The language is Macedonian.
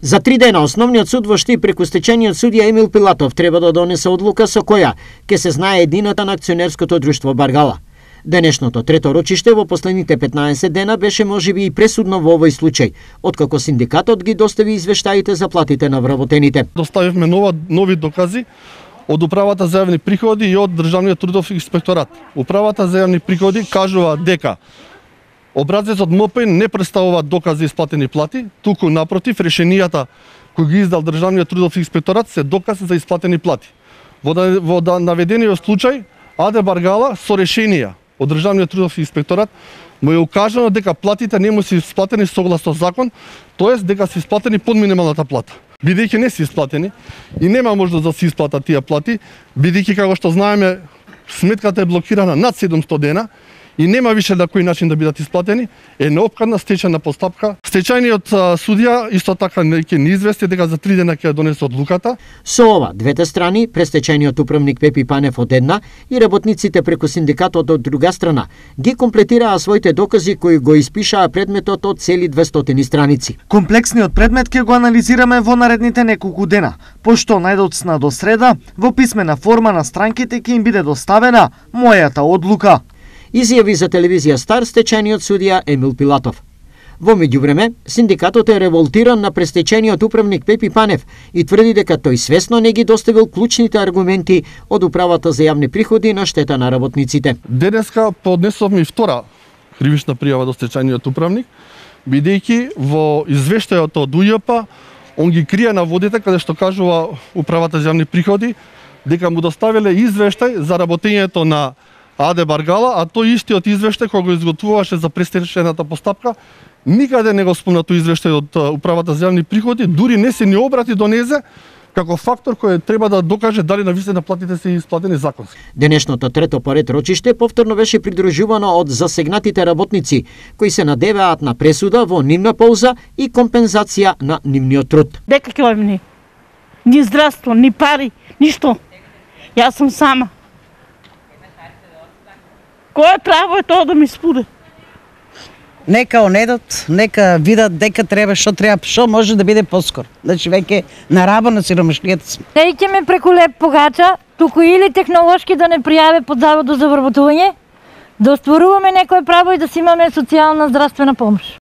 За 3 дена основниот суд во Штип преку стечениот судија Емил Пилатов треба да донесе одлука со која ќе се знае едината на акционерското друштво Баргала. Денешното трето рочиште во последните 15 дена беше можеби и пресудно во овој случај, откако синдикатот ги достави извештаите за платите на вработените. Доставивме нови докази од Управата за јавни приходи и од Државниот трудов инспекторат. Управата за јавни приходи кажува дека образецот МП не представува доказ за исплатени плати, туку напротив решенијата кои ги издал Државниот трудов инспекторат се доказ за исплатени плати. Во наведениот случај АД Баргала со решенија од Државниот трудов инспекторат му е укажано дека платите не му се исплатени согласно закон, тоест дека се исплатени под минималната плата. Бидејќи не се исплатени и нема можност да се исплатат тие плати, бидејќи како што знаеме сметката е блокирана над 700 дена и нема више на кој начин да бидат исплатени, е неопходна стечајна постапка. Стечајниот судија исто така ќе ни извести дека за 3 дена ќе донесе одлуката. Со ова, двете страни, престечајниот управник Пепи Панев од една и работниците преку синдикатот од друга страна, ги комплетираа своите докази кои го испишаа предметот од цели 200 страници. Комплексниот предмет ќе го анализираме во наредните неколку дена, пошто најдоцна до среда во писмена форма на странките ќе им биде доставена мојата одлука, изјави за телевизија Стар стечајниот судија Емил Пилатов. Во меѓувреме, синдикатот е револтиран на престечениот управник Пепи Панев и тврди дека тој свесно не ги доставил клучните аргументи од Управата за јавни приходи на штета на работниците. Денеска поднесовме и втора кривична пријава до стечајниот управник, бидејќи во извештајот од УЈП он ги крие наводите каде што кажува Управата за јавни приходи дека му доставиле извештај за работењето на АД Баргала, а тој истиот извештај кој го изготвуваше за престечајната постапка, никаде не го спомна тој извештај од Управата за јавни приходи, дури не се ни обрати до незе како фактор кој треба да докаже дали навистина платите се исплатени законски. Денешното трето поред рочиште повторно беше придружувано од засегнатите работници, кои се надеваат на пресуда во нивна полза и компензација на нивниот труд. Дека ќе имаме ни здравство, ни пари, ништо. Јас сум сама. Кое право е тоа да ми спуде? Нека онедот, нека видат дека треба, што може да биде поскоро. Значи веќе на раба на сиромашнијата сме. Не ќеме преку леп погача, туку или технолошки да не пријаве под заводот за вработување, да остваруваме некое право и да си имаме социјална здравствена помош.